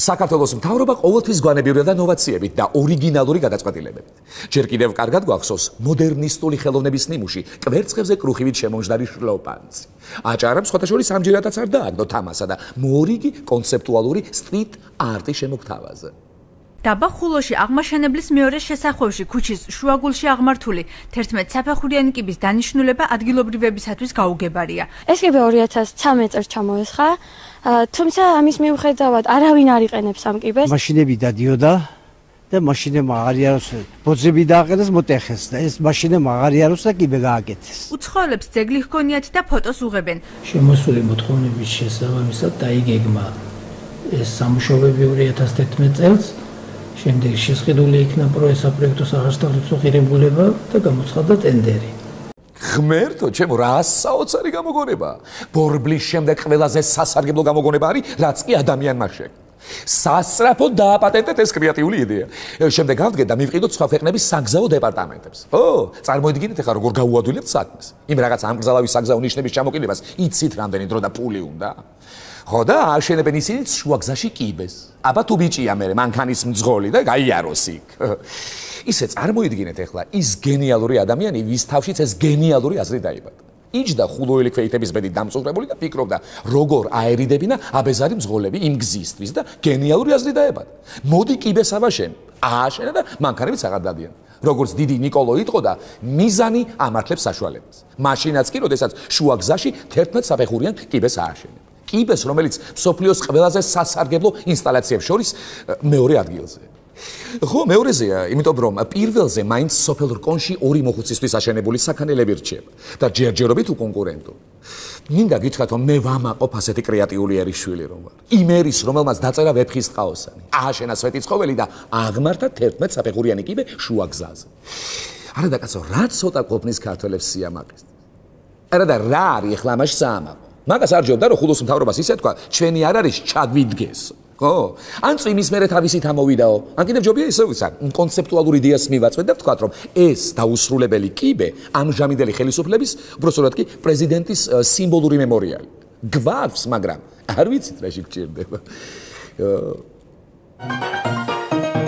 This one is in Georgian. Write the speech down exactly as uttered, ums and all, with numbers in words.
საქართველოს მთავრობა ყოველთვის გვანებიურდა და ნოვაციებით და ორიგინალური გადაწყვეტილებებით. ჯერ კიდევ კარგად გვახსოვს მოდერნისტული ხელოვნების ნიმუში კვერცხებზე კრუხივით შემომჯდარი შლოპანცი. აჭარამ სხვათაშორის ამჯერადაც არ დააგდო თამასა და მორიგი კონცეპტუალური სტრიტ არტი შემოგთავაზა. დაბა ხულოში აღმაშენებლის მეორე შესახვევში ქუჩის შუაგულში აღმართული თერთმეტ საფეხურიანი კიბის დანიშნულება ადგილობრივებისათვის გაუგებარია. ეს კიბე ორი ათას ცხრამეტ წელს ჩამოესხა, თუმცა ამის მიუხედავად არავინ არ იყენებს ამ კიბეს. მაშინები დადიოდა და მაშინებმა აღარიაროს ბოძები დააყენეს მოტეხეს და ეს მაშინებმა აღარიაროს და კიბე გააკეთეს. უცხოელებს ძეგლი ჰქონიათ და ფოტოს უღებენ. შემოსული მოთხოვნების შესაბამისად დაიგეგმა ეს სამუშაოები ორი ათას თერთმეტ წელს. შემდეგ შესყიდული იქნა პროექტო სახარშთალოცო ღირებულება და გამოცხადდა ტენდერი. ღმერთო, ჩემო, რა საოცარი გამოგონება. ბორბლის შემდეგ ყველაზე სასარგებლო გამოგონება არის, რაც კი ადამიანმა შექმნა. სასწრაფოდ დააპატენტეთ ეს კრეატიული იდეა. შემდეგ გავდგეთ და მივყიდოთ სხვა ქვეყნების საგზაო დეპარტამენტებს. ო, წარმოიდგინეთ ახლა როგორ გაუადვილებთ საქმეს. იმ რაღაც ამგზალავის საგზაო ნიშნების ჩამოკიდებას იცით რამდენი დრო და ფული უნდა. ხო და აშენებენ ისინიც შუაგზაში კიბეს. აბა თუ ბიჭია მე მანქანის მძღოლი და გაიაროს იქ. ისე წარმოიდგინეთ ახლა ის გენიალური ადამიანი, ვის თავშიც ეს გენიალური აზრი დაიბადა. იჯდა ხულოელი ქვეითების ბედით დამწუხრებული და ფიქრობდა, როგორ აერიდებინა აბეზარი მძღოლები იმ გზისთვის და გენიალური აზრი დაებადა. მოდი კიბეს ავაშენ. ააშენა და მანქანებიც აღარ დადიან. როგორც დიდი ნიკოლო იტყოდა, მიზანი ამართლებს საშუალებას. მაშინაც კი, როდესაც შუაგზაში თერთმეტ საფეხურიან კიბეს ააშენებ. კიბეს, რომელიც მსოფლიოს ყველაზე სასარგებლო ინსტალაციებს შორის მეორე ადგილზე. ხო, მეორეზეა, იმიტომ რომ პირველზე მაინც სოფელ რკონში ორი მოხუცისთვის აშენებული საქანელები რჩება და ჯერჯერობით უკონკურენტო. მინდა გითხრათ, რომ მე ვამაყობ ასეთი კრეატიული ერის რომ ვარ. იმ ერის, რომელმაც დაწერა ვეფხის ტყაოსანი, ააშენა სვეტიცხოველი და აღმართა თერთმეტ საფეხურიანი კიბე შუაგზაზე. არა და კაცო, რა ცოტა ყოფნის ქართველებს სიამაყეს. არა და რა არის ახლა ამაში საამაყო? მაგას არ ჯობდა რომ ხულოს მთავრობას ისე თქვა, ჩვენი არ არის ჩაგვიდგეს. ხო? ან წვიმის მერე თავისით ამოვიდაო. ან კიდევ ჯობია ისე ვიცარ, კონცეპტუალური იდეას მივაწვეთ და ვთქვათ, რომ ეს დაუსრულებელი კიბე ამჟამინდელი ხელისუფლების, უბრალოდ კი პრეზიდენტის სიმბოლური მემორიალი. გვაქვს, მაგრამ არ ვიცით რა შეგჭირდება.